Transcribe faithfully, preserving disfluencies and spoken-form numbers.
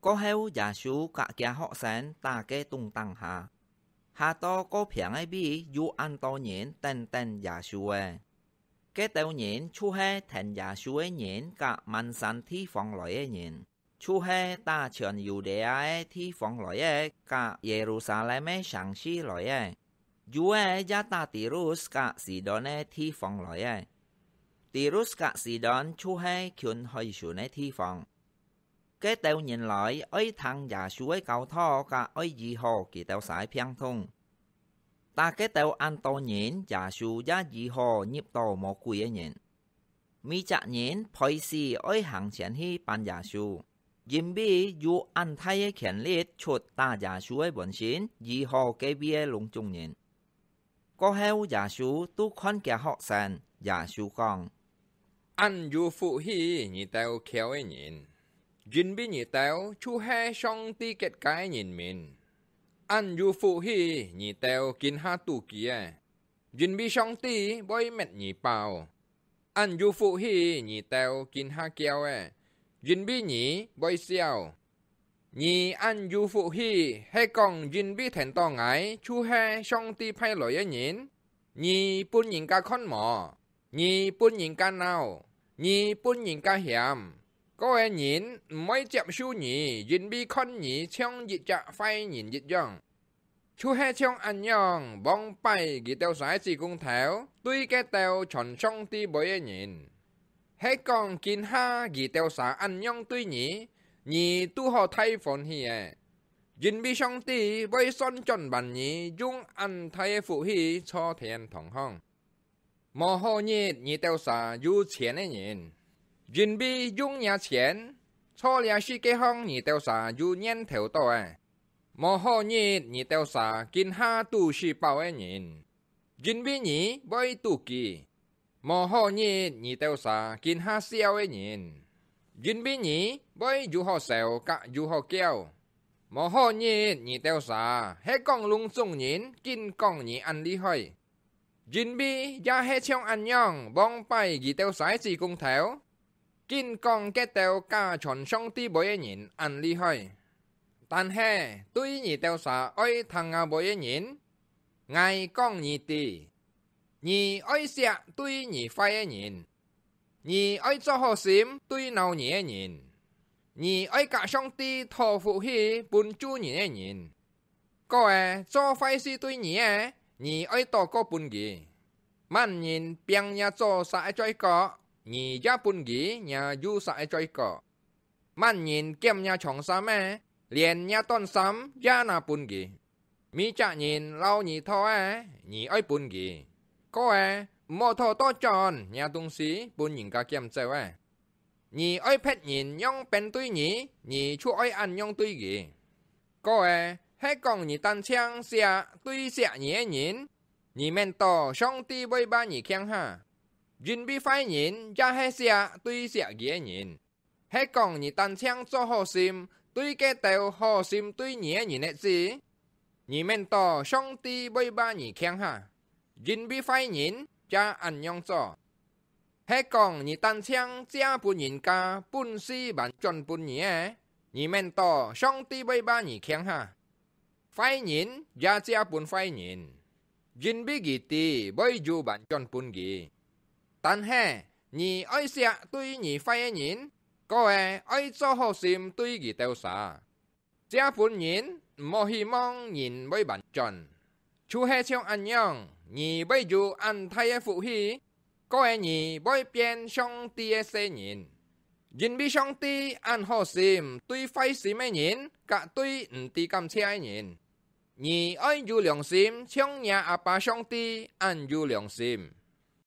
過後，耶穌甲厥學生打个東打下，下到過平个位有恁多人等等耶穌誒。該兜人就係跈耶穌个人甲滿山地方來个人，就係打全猶太个地方來个，甲耶路撒冷个城市來个，有个也打提魯斯甲西頓个地方來个。提魯斯甲西頓就係近海脣个地方。該兜人來，愛聽耶穌个教導，甲愛醫好佢兜儕个病痛。打該兜恁多人，耶穌也醫好入到無鬼个人。每隻人背時愛行前去扮耶穌，因為有恁大个權力出打耶穌个本身，醫好該位个聾腫人。過後，耶穌都看厥學生，耶穌講：「恁有福氣你兜譙个人，因為你兜就係上帝結界个人民。恁有福氣你兜今下肚飢个，因為上帝會搣你飽。恁有福氣你兜今下噭个，因為你會笑。你恁有福氣，係講因為跈到𠊎就係上帝派來个人。你分人家看無？你分人家惱，你分人家嫌。該个人毋會接受你，因為看你像一隻壞人一樣。」就係像恁樣，往擺佢兜儕个子工頭對該兜傳上帝話个人。係講今下佢兜儕恁樣對你，你都好大歡喜誒，因為上帝會算轉還你用恁大个福氣坐天堂項。無好日你兜儕有錢个人，因為用若錢，做這世界項你兜儕有念頭到个。無好日你兜儕今下肚屎飽个人，因為你會肚飢。無好日你兜儕今下笑个人，因為你會有好愁甲有好噭。無好日你兜儕係講聾腫人，緊講你恁厲害，因為也係像恁樣，往擺佢兜儕个子工頭，緊講該兜假傳上帝話个人恁厲害。但係對你兜儕愛聽吾話个人，𠊎講你知，你愛惜對你壞个人，你愛做好心對惱你个人，你愛甲上帝討福氣分咒人个人。該个做壞事對你个，你愛禱告分佢。麼人拚若左儕个嘴角，你也分佢若右儕个嘴角。麼人撿若長衫个，連若短衫也拿分佢。每隻人摎你討个，你愛分佢。該个毋好討倒轉若東西分人家撿走个。你愛別人仰般對你，你就愛恁樣對佢。該个係講你單淨惜對惜你个人，你免到上帝會罵你共下，因為壞人也係惜對惜佢个人。 係講你單淨做好心對該兜好心對你个人个子，你免到上帝會罵你共下，因為壞人也恁樣做。係講你單淨借分人家本事還轉分你个，你免到上帝會罵你共下。 壞人也借分壞人，因為佢知會有還轉分佢。但係你愛惜對你壞个人，該个愛做好心對佢兜儕。借分人毋好希望人會還轉，就係像恁樣，你會有恁大个福氣，該个你會變上帝个細人。 因為上帝恁好心對壞心个人，甲對毋知感謝个人。你愛有良心，像若阿爸上帝恁有良心。